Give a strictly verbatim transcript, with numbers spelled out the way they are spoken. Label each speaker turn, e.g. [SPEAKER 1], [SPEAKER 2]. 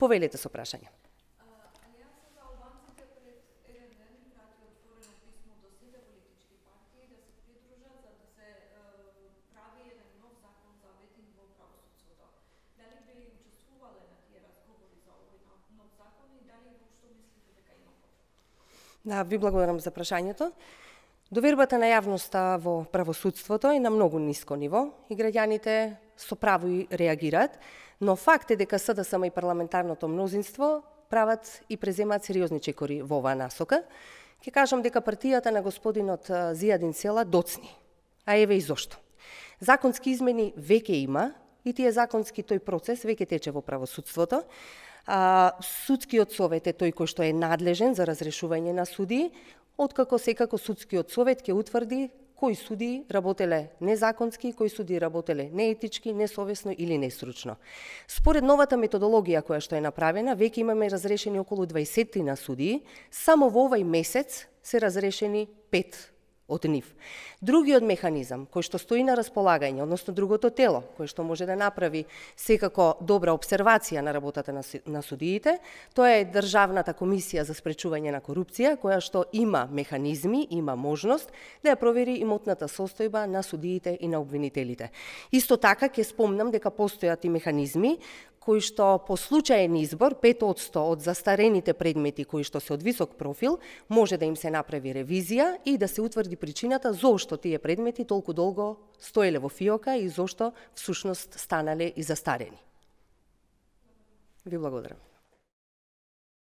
[SPEAKER 1] Повелете со прашање. Да, ви благодарам за прашањето. Довербата на јавноста во правосудството е на многу ниско ниво и граѓаните со право и реагираат, но факт е дека СДСМ и парламентарното мнозинство прават и преземаат сериозни чекори во оваа насока. Ќе кажам дека партијата на господинот Зијадин Села доцни. А еве и зошто. Законски измени веќе има и тие законски тој процес веќе тече во правосудството. А, судскиот совет е тој кој што е надлежен за разрешување на судии, откако секако судскиот совет ќе утврди кои судии работеле незаконски, кои судии работеле неетички, несовесно или нестручно. Според новата методологија која што е направена, веќе имаме разрешени околу дваесет на судии, само во овај месец се разрешени пет од нив. Другиот механизам кој што стои на располагање, односно другото тело кој што може да направи секако добра обсервација на работата на, на судиите, тоа е Државната комисија за спречување на корупција, која што има механизми, има можност да ја провери имотната состојба на судиите и на обвинителите. Исто така ќе спомнам дека постојат и механизми кои што по случаен избор пет одсто од застарените предмети кои што се од висок профил може да им се направи ревизија и да се утврди причината зошто тие предмети толку долго стоеле во фиока и зошто всушност станале и застарени. Ви благодарам.